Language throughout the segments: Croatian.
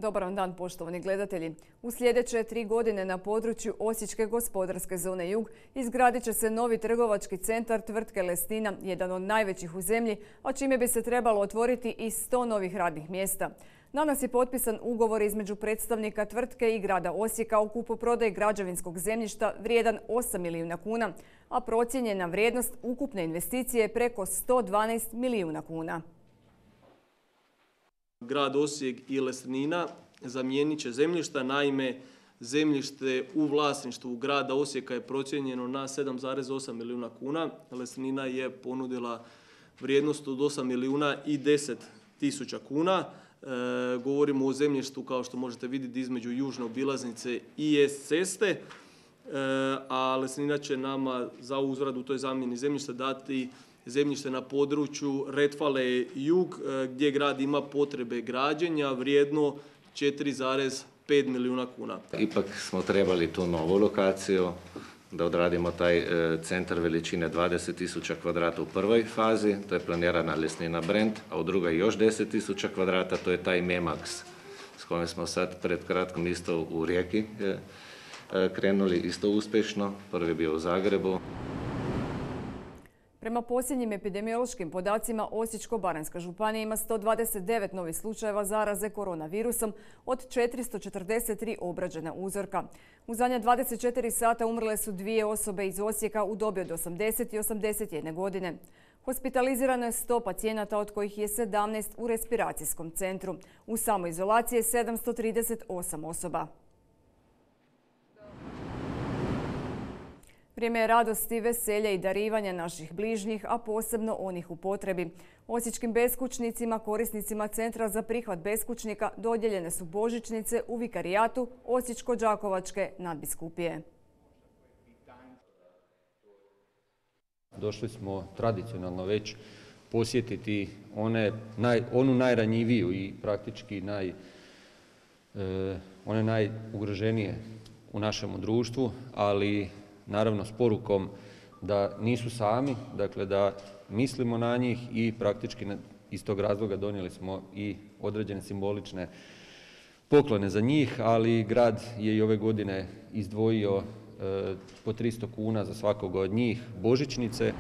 Dobar vam dan, poštovani gledatelji. U sljedeće 3 godine na području Osječke gospodarske zone Jug izgradit će se novi trgovački centar tvrtke Lesnina, jedan od najvećih u zemlji, a čime bi se trebalo otvoriti i 100 novih radnih mjesta. Danas je potpisan ugovor između predstavnika tvrtke i grada Osijeka o kupoprodaji građevinskog zemljišta vrijedan 8 milijuna kuna, a procijenjena vrijednost ukupne investicije je preko 112 milijuna kuna. Grad Osijek i Lesnina zamijenit će zemljišta, naime zemljište u vlasništvu grada Osijeka je procijenjeno na 7,8 milijuna kuna. Lesnina je ponudila vrijednost od 8 milijuna i 10 tisuća kuna. Govorimo o zemljištu, kao što možete vidjeti, između južne obilaznice i S ceste, a Lesnina će nama za uzvrat u toj zamjeni zemljišta dati zemljište na području Retfale Jug, gdje grad ima potrebe građenja vrijedno 4,5 milijuna kuna. Ipak smo trebali tu novu lokaciju, da odradimo taj centar veličine 20.000 kvadrata u prvoj fazi, to je planirana Lesnina Brand, a u drugoj još 10.000 kvadrata, to je taj Memax s kojim smo sad pred kratkom isto u Rijeki krenuli isto uspješno, prvi je bio u Zagrebu. Prema posljednjim epidemiološkim podacima, Osječko-baranjska županija ima 129 novih slučajeva zaraze koronavirusom od 443 obrađena uzorka. U zadnja 24 sata umrle su 2 osobe iz Osijeka u dobi od 80 i 81 godine. Hospitalizirano je 100 pacijenata, od kojih je 17 u respiracijskom centru. U samoizolaciji je 738 osoba. Vrijeme je radosti, veselja i darivanja naših bližnjih, a posebno onih u potrebi. Osječkim beskućnicima, korisnicima Centra za prihvat beskućnika dodijeljene su božićnice u vikarijatu Osječko-đakovačke nadbiskupije. Došli smo tradicionalno već posjetiti onu najranjiviju i praktički one najugroženije u našemu društvu, ali naravno s porukom da nisu sami, dakle da mislimo na njih i praktički iz tog razloga donijeli smo i određene simbolične poklone za njih, ali grad je i ove godine izdvojio po 300 kuna za svakog od njih božićnice.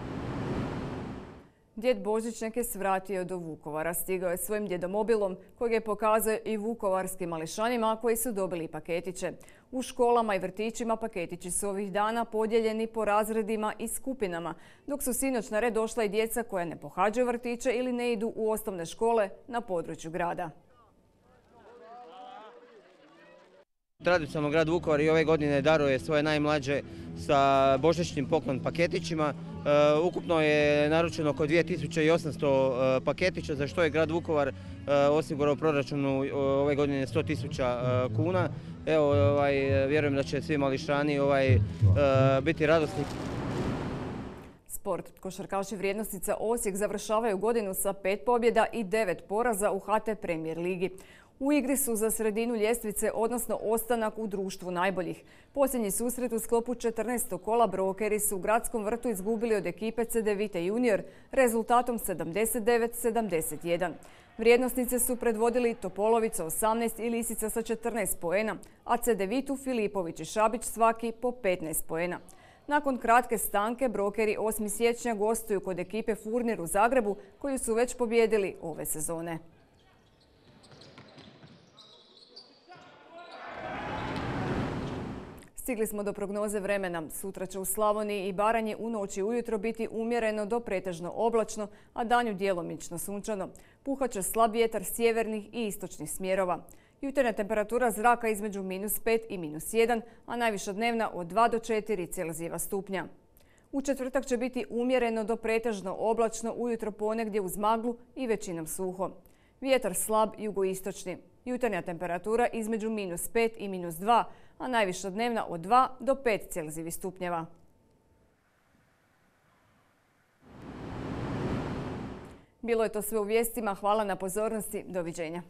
Djed Božićnjak je svratio do Vukovara. Stigao je svojim djedomobilom kojeg je pokazao i vukovarskim mališanima koji su dobili paketiće. U školama i vrtićima paketići su ovih dana podijeljeni po razredima i skupinama, dok su sinoć na red došla i djeca koja ne pohađaju vrtiće ili ne idu u osnovne škole na području grada. Tradicionalno grad Vukovar i ove godine daruje svoje najmlađe sa božićnim poklon paketićima. Ukupno je naručeno oko 2800 paketića, za što je grad Vukovar osigurao u proračunu ove godine 100.000 kuna. Evo, vjerujem da će svi mališani biti radosni. Sport. Košarkaši vrijednosnica Osijek završavaju godinu sa 5 pobjeda i 9 poraza u HT Premier ligi. U igri su za sredinu ljestvice, odnosno ostanak u društvu najboljih. Posljednji susret u sklopu 14. kola Brokeri su u Gradskom vrtu izgubili od ekipe Cedevite Junior rezultatom 79-71. Vrijednosnice su predvodili Topolovica 18 i Lisica sa 14 poena, a Cedevitu Filipović i Šabić svaki po 15 poena. Nakon kratke stanke, Brokeri 8. siječnja gostuju kod ekipe Furnir u Zagrebu, koju su već pobijedili ove sezone. Stigli smo do prognoze vremena. Sutra će u Slavoniji i Baranji u noći ujutro biti umjereno do pretežno oblačno, a danju djelomično sunčano. Puhat će slab vjetar sjevernih i istočnih smjerova. Jutarnja temperatura zraka između -5 i -1, a najviša dnevna od 2 do 4 Celzijeva stupnja. U četvrtak će biti umjereno do pretežno oblačno, ujutro ponegdje uz maglu i većinom suho. Vjetar slab jugoistočni. Jutarnja temperatura između -5 i -2, a najviša dnevna od 2 do 5 Celzijevih stupnjeva. Bilo je to sve u vijestima. Hvala na pozornosti. Doviđenja.